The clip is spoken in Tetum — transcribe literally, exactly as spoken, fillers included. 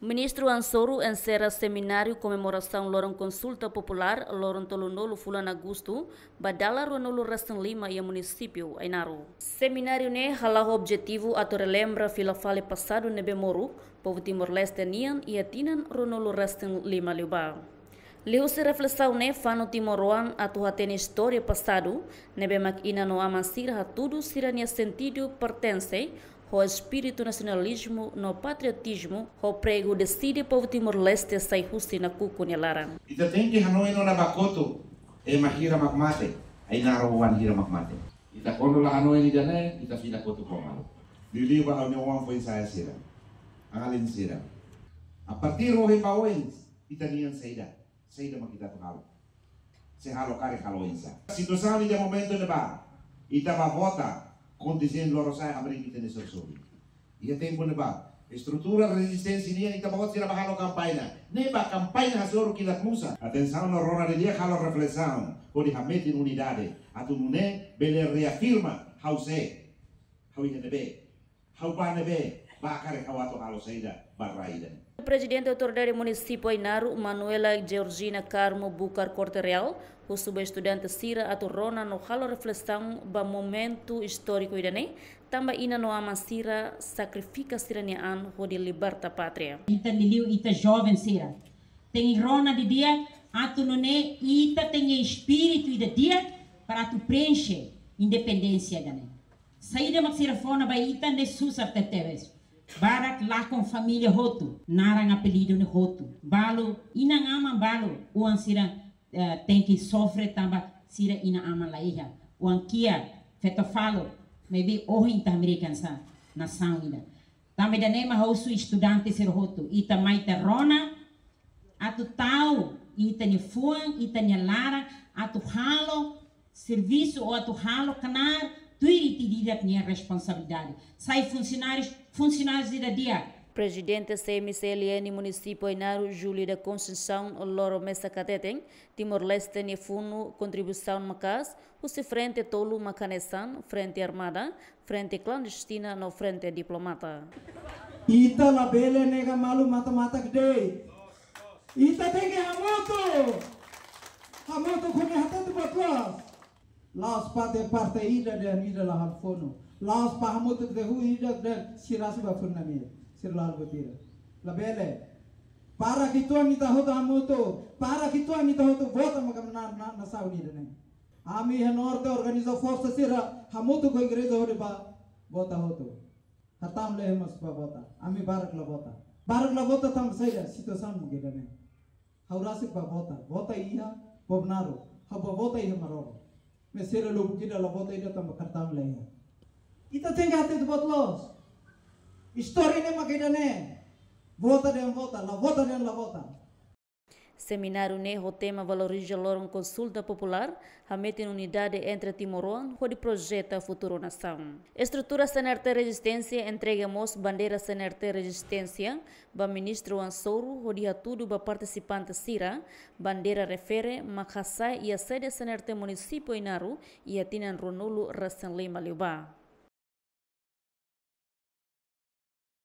Ministru Ansoru enserra semináriu komemorasaun loron konsulta populár, loron tolunulu fulan Agostu, ba dala ruanulu-resin-lima iha munisípiu Ainaro. Semináriu ne'e hala'o objetivu atu relembra fila fali pasadu ne'ebé moruk povu Timor-Leste nian iha tinan ruanulu-resin-lima liubá. Liuhusi reflesaun ne'e, fanu timoroan atu hatene istória pasadu, ne'ebé mak inan no aman sira hatudu sira-nia sentidu pertense, ho espíritu nasionalizmu no patriotizmu, ho pregu deside povu Timor-Leste sai husi nakukun nia laran. Ita tenke hanoin ona ba kotuk, ema hira mak mate, Ainaro oan hira mak mate. Ita kuandu la hanoin ida-ne'e, ita fila kotuk ho malu. Liuliu ba ha'u-nia oan foin-sa'e sira, alin sira. A partir ohin ba oin, ita-nian saida, saida mak ita atu halo. Se halo karik halo oinsá. Situasaun iha momentu ne'ebá, ita ba vota, kontinjente lorosa'e hamriik ita-nia sorin-sorin. Iha tempu ne'ebá, estrutura rezisténsia nian ita ba vota sira ba halo kampaña. Ne'e ba kampaña hasoru kilat musa. Atensaun no rona didi'ak halo reflesaun, hodi hametin unidade. Atu nune'e bele reafirma ha'u sé, ha'u iha ne'ebé, ha'u ba ne'ebé, ba karik ha'u atu halo saida ba rai ida-ne'e. Prezidente Autoridade Munisípiu Ainaro, Manuela Georgina Carmo Bucar Corte Real, husu ba estudante sira atu rona no halo reflesaun ba momentu istóriku ida-ne'e, tanba inan no aman sira sakrifika sira-nia an hodi liberta pátria. Ita liuliu ita joven sira tenke rona didi'ak atu nune'e ita tenke espíritu ida di'ak para atu preenxe independénsia ida-ne'e. Saida mak sira fó ona ba ita ne'e susar tebetebes. Barak lakon família hotu, naran apelidu ne'e hotu. Balu, inan-aman balu, oan sira, eh, tenke sofre tanba sira inan-aman la iha. Oan kiak, feto faluk, maybe ohin ita hamriik hanesan nasaun ida. Tanba ida-ne'e mak ha'u husu estudante sira hotu, ita mai ita rona, atu tau ita-nia fuan, ita-nia laran, atu halo servisu ou atu halo knaar, tuir ita-nia responsabilidade. Sai funsionáriu, funsionáriu ida di'ak. Prezidente C M C L N Munisípiu Ainaro, Júlio da Conceição, loro mesak hateten, Timor-Leste nia funu kontribuisaun maka'as, husi frente tolu mak hanesan, frente armada, frente klandestina no frente diplomata. Ita labele nega malu mata-matak de'it. Ita tenke hamutuk. Hamutuk hodi hatete buat loos. La'ós parte, parte ida dehan ida la halo funu. La'ós ba hamutuk dehan ida dehan sira sudah funu nami. Sira la halo buat ida. Labele. Para kituan ita hotu hamutuk. Para kituan ita hotu vota maka na, na, nasaun ida-ne'e. Ami iha Norte organiza forsa sira hamutuk ho igreja hodi ba vota hotu. Kartaun lehe mós ba vota. Ami barak la vota. Barak la vota tanba saida, situasaun mak ida-ne'e. Ha'u rasik ba vota. Vota iha Bobnaro. Ha'u ba vota iha Maroro. Maibé sira lubuk ida la vota ida tanba kartaun la iha. Ita tenke hatete buat loos. Istória ne'e mak ida-ne'e. Vota dehan vota, la vota dehan la vota. Semináriu ne'e ho tema valoriza loron konsulta populár, hametin unidade entre timoroan hodi projeta futuru nasaun. Estrutura C N R T Rezisténsia entrega mós bandeira C N R T Rezisténsia ba Ministru Ansoru hodi hatudu ba partisipante sira, bandeira refere mak hasa'e iha sede C N R T Munisípiu Ainaro iha tinan ruanulu-resin-lima liubá.